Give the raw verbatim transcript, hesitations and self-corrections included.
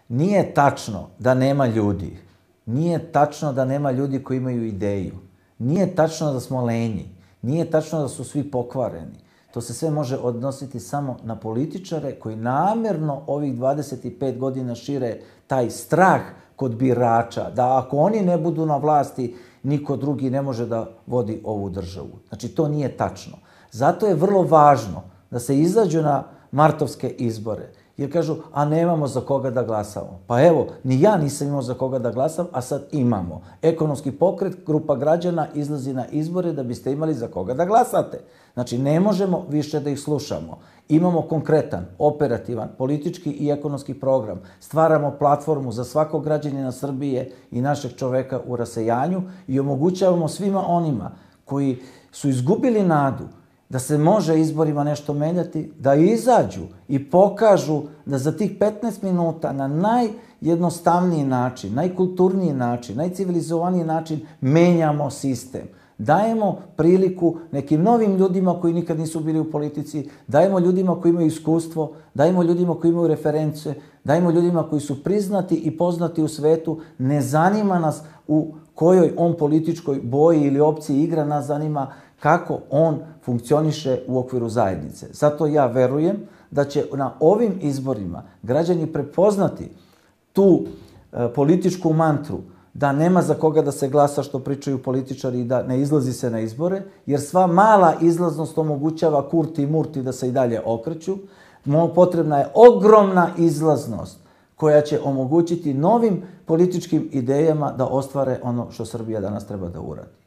Nije tačno da nema ljudi. Nije tačno da nema ljudi koji imaju ideju. Nije tačno da smo lenji. Nije tačno da su svi pokvareni. To se sve može odnositi samo na političare koji namjerno ovih dvadeset pet godina šire taj strah kod birača, da ako oni ne budu na vlasti, niko drugi ne može da vodi ovu državu. Znači, to nije tačno. Zato je vrlo važno da se izađu na martovske izbore. Jer kažu, a nemamo za koga da glasamo. Pa evo, ni ja nisam imao za koga da glasam, a sad imamo. Ekonomski pokret, grupa građana izlazi na izbore da biste imali za koga da glasate. Znači, ne možemo više da ih slušamo. Imamo konkretan, operativan, politički i ekonomski program. Stvaramo platformu za svakog građanina Srbije i našeg čoveka u rasejanju i omogućavamo svima onima koji su izgubili nadu da se može izborima nešto menjati, da izađu i pokažu da za tih petnaest minuta na najjednostavniji način, najkulturniji način, najcivilizovaniji način menjamo sistem. Dajemo priliku nekim novim ljudima koji nikad nisu bili u politici, dajemo ljudima koji imaju iskustvo, dajemo ljudima koji imaju reference, dajemo ljudima koji su priznati i poznati u svetu. Ne zanima nas u kojoj on političkoj boji ili opciji igra, nas zanima kako on funkcioniše u okviru zajednice. Zato ja verujem da će na ovim izborima građani prepoznati tu e, političku mantru da nema za koga da se glasa, što pričaju političari, i da ne izlazi se na izbore, jer sva mala izlaznost omogućava Kurti i Murti da se i dalje okreću. Potrebna je ogromna izlaznost koja će omogućiti novim političkim idejama da ostvare ono što Srbija danas treba da uradi.